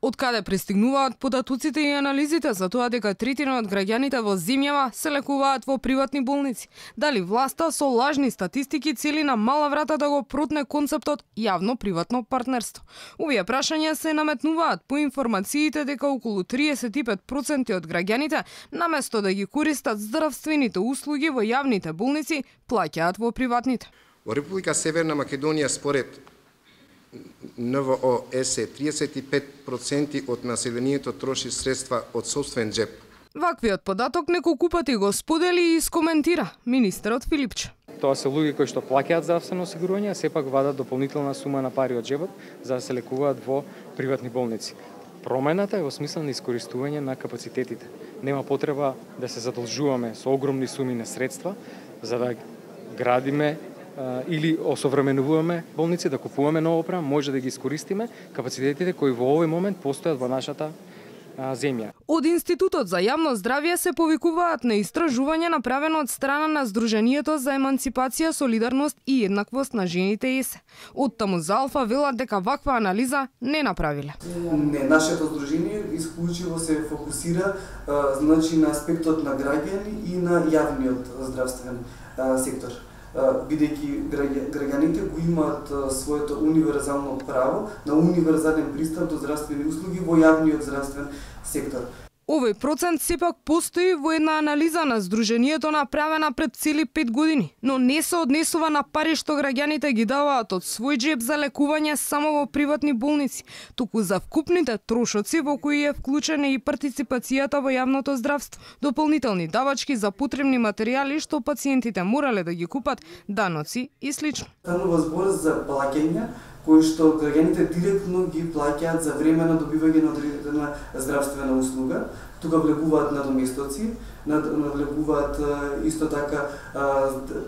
Од каде пристигнуваат податоците и анализите за тоа дека третина од граѓаните во земјава се лекуваат во приватни болници? Дали власта со лажни статистики цели на мала врата да го протне концептот јавно-приватно партнерство? Овие прашања се наметнуваат по информациите дека околу 35% од граѓаните, наместо да ги користат здравствените услуги во јавните болници, плаќаат во приватните. Во Република Северна Македонија според НВО-ЕС 35% од населението троши средства од сопствен џеп. Ваквиот податок неколку пати го сподели и искоментира министерот Филипче. Тоа се луѓе кои што плаќаат здравствено осигурување, сепак вадат дополнителна сума на пари од џебот за да се лекуваат во приватни болници. Промената е во смисла на искористување на капацитетите. Нема потреба да се задолжуваме со огромни суми на средства за да градиме или осовременуваме болници, да купуваме нова опрема, може да ги искористиме капацитетите кои во овој момент постојат во нашата земја. Од Институтот за јавно здравје се повикуваат на истражување направено од страна на Сдруженијето за еманципација, солидарност и еднаквост на жените ЕС. Од таму за Алфа велат дека ваква анализа не направиле. Не, нашето здружение исклучиво се фокусира значи на аспектот на граѓани и на јавниот здравствен сектор. Бидејќи граѓаните го имаат своето универзално право на универзален пристап до здравствени услуги во јавниот здравствен сектор. Овој процент сепак постои во една анализа на Сдруженијето направена пред цели 5 години, но не се однесува на пари што граѓаните ги даваат од свој џеб за лекување само во приватни болници, туку за вкупните трошоци во кои е вклучена и партиципацијата во јавното здравство, дополнителни давачки за потребни материјали што пациентите морале да ги купат, даноци и слично. Станува збор за плаќања кои што граѓаните директно ги плаќаат за време на добивање на одредена здравствена услуга. Тука влегуваат надоместоци, влегуваат исто така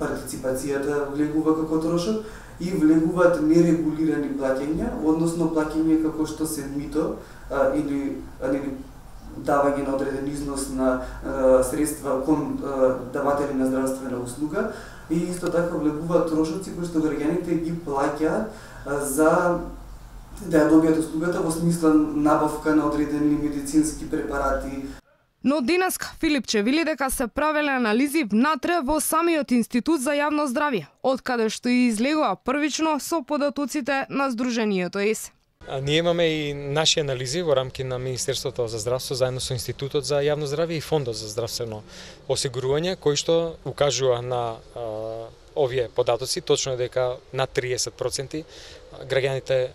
партиципацијата влегува како трошок и влегуваат нерегулирани плаќања, односно плаќање како што се мито или давање на одреден износ на средства кон даватели на здравствена услуга и исто така влегуваат трошоци кои што граѓаните ги плаќаат за да ја добијат услугата во смисла набавка на одредени медицински препарати. Но денеска Филипче вели дека се правеле анализи внатре во самиот Институт за јавно здравје, од каде што и излегува првично со податоците на Сдруженијето ЕС. Ние имаме и наши анализи во рамки на Министерството за здравство заедно со Институтот за јавно здравје и Фондот за здравствено осигурување, кои што укажува на овие податоци, точно дека над 30% граѓаните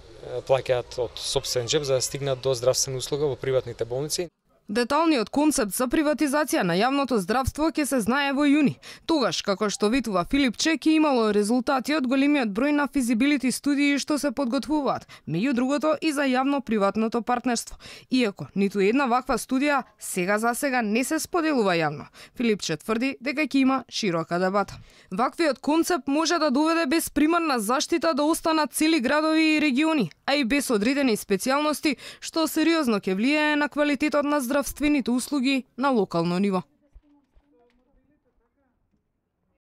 плаќаат од сопствен џеб за да стигнат до здравствена услуга во приватните болници. Деталниот концепт за приватизација на јавното здравство ќе се знае во јуни. Тогаш, како што ветува Филипче, ќе имало резултати од големиот број на физибилити студии што се подготвуваат, меѓу другото и за јавно-приватното партнерство. Иако ниту една ваква студија за сега не се споделува јавно. Филипче тврди дека ќе има широка дебата. Ваквиот концепт може да доведе без примарна заштита да останат цели градови и региони, а и без одредени специјалности, што сериозно ќе влијае на квалитетот на здравствените услуги на локално ниво.